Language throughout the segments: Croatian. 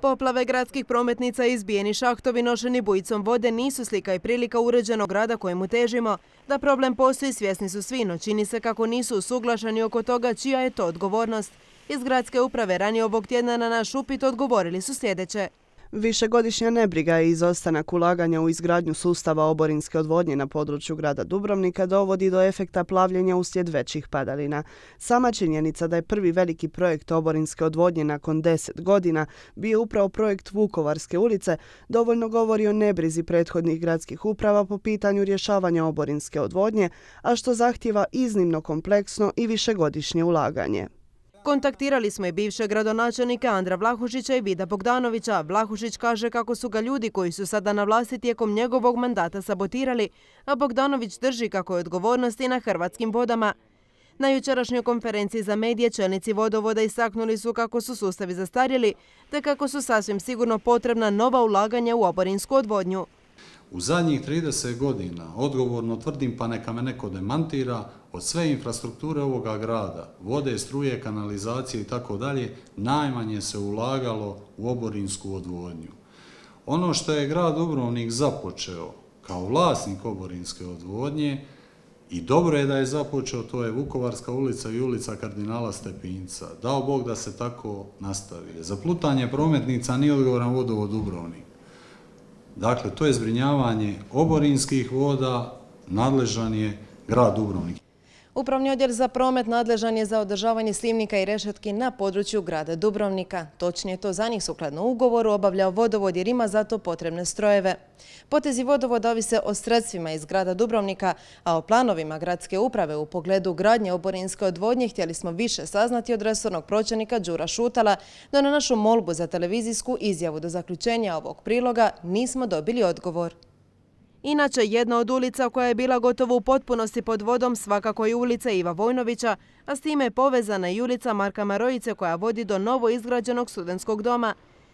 Poplave gradskih prometnica i izbijeni šahtovi nošeni bujicom vode nisu slika i prilika uređenog grada kojemu težimo. Da problem postoji svjesni su svi, no čini se kako nisu usuglašeni oko toga čija je to odgovornost. Iz gradske uprave ranije ovog tjedna na naš upit odgovorili su sljedeće. Višegodišnja nebriga i izostanak ulaganja u izgradnju sustava oborinske odvodnje na području grada Dubrovnika dovodi do efekta plavljenja uslijed većih padalina. Sama činjenica da je prvi veliki projekt oborinske odvodnje nakon 10 godina bio upravo projekt Vukovarske ulice dovoljno govori o nebrizi prethodnih gradskih uprava po pitanju rješavanja oborinske odvodnje, a što zahtijeva iznimno kompleksno i višegodišnje ulaganje. Kontaktirali smo i bivšeg gradonačelnika Andra Vlahušića i Vida Bogdanovića. Vlahušić kaže kako su ga ljudi koji su sada na vlasti tijekom njegovog mandata sabotirali, a Bogdanović drži kako je odgovornost i na Hrvatskim vodama. Na jučerašnjoj konferenciji za medije čelnici vodovoda istaknuli su kako su sustavi zastarjeli, te kako su sasvim sigurno potrebna nova ulaganja u oborinsku odvodnju. U zadnjih 30 godina, odgovorno tvrdim, pa neka me neko demantira, od sve infrastrukture ovoga grada, vode, struje, kanalizacije i tako dalje, najmanje se ulagalo u oborinsku odvodnju. Ono što je grad Dubrovnik započeo kao vlasnik oborinske odvodnje, i dobro je da je započeo, to je Vukovarska ulica i ulica kardinala Stepinca. Dao Bog da se tako nastavi. Za plutanje prometnica nije odgovoran vodovod Dubrovnik. Dakle, to je zbrinjavanje oborinskih voda, nadležan je grad Dubrovnik. Upravni odjel za promet nadležan je za održavanje slivnika i rešetki na području grada Dubrovnika. Točnije to za njih sukladno ugovoru obavljao vodovod jer ima za to potrebne strojeve. Potezi vodovoda ovise o sredstvima iz grada Dubrovnika, a o planovima gradske uprave u pogledu gradnje oborinske odvodnje htjeli smo više saznati od resornog pročelnika Đura Šutala, no na našu molbu za televizijsku izjavu do zaključenja ovog priloga nismo dobili odgovor. Inače, jedna od ulica koja je bila gotovo u potpunosti pod vodom svakako je ulica Iva Vojnovića, a s time je povezana i ulica Marka Marojice koja vodi do novo izgrađenog studentskog doma.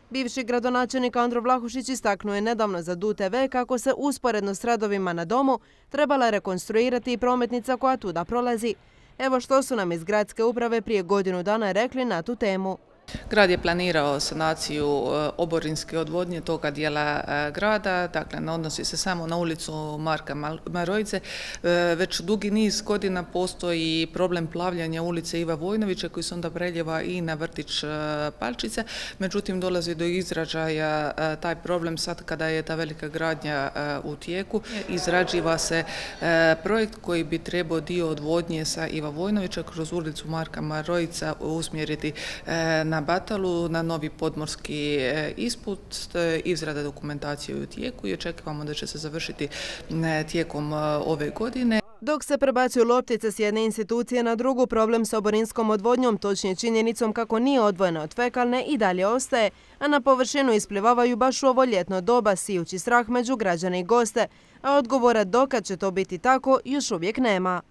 Bivši gradonačelnik Andro Vlahušić istaknuo je nedavno za DUTV kako se usporedno s radovima na domu trebala rekonstruirati i prometnica koja tuda prolazi. Evo što su nam iz gradske uprave prije godinu dana rekli na tu temu. Grad je planirao sanaciju oborinske odvodnje toga dijela grada, dakle ne odnosi se samo na ulicu Marka Marojice, već dugi niz godina postoji problem plavljanja ulice Iva Vojnovića koji se onda preljeva i na vrtić Palčice, međutim dolazi do izražaja taj problem sad kada je ta velika gradnja u tijeku. Izrađiva se projekt koji bi trebao dio odvodnje sa Iva Vojnovića kroz ulicu Marka Marojica usmjeriti na Batalu, na novi podmorski isput. Izrada dokumentacije u tijeku i očekivamo da će se završiti tijekom ove godine. Dok se prebacuju loptice s jedne institucije na drugu, problem s oborinskom odvodnjom, točnije činjenicom kako nije odvojena od fekalne, i dalje ostaje, a na površinu isplivavaju baš u ovo ljetno doba, sijući strah među građane i goste, a odgovora dokad će to biti tako još uvijek nema.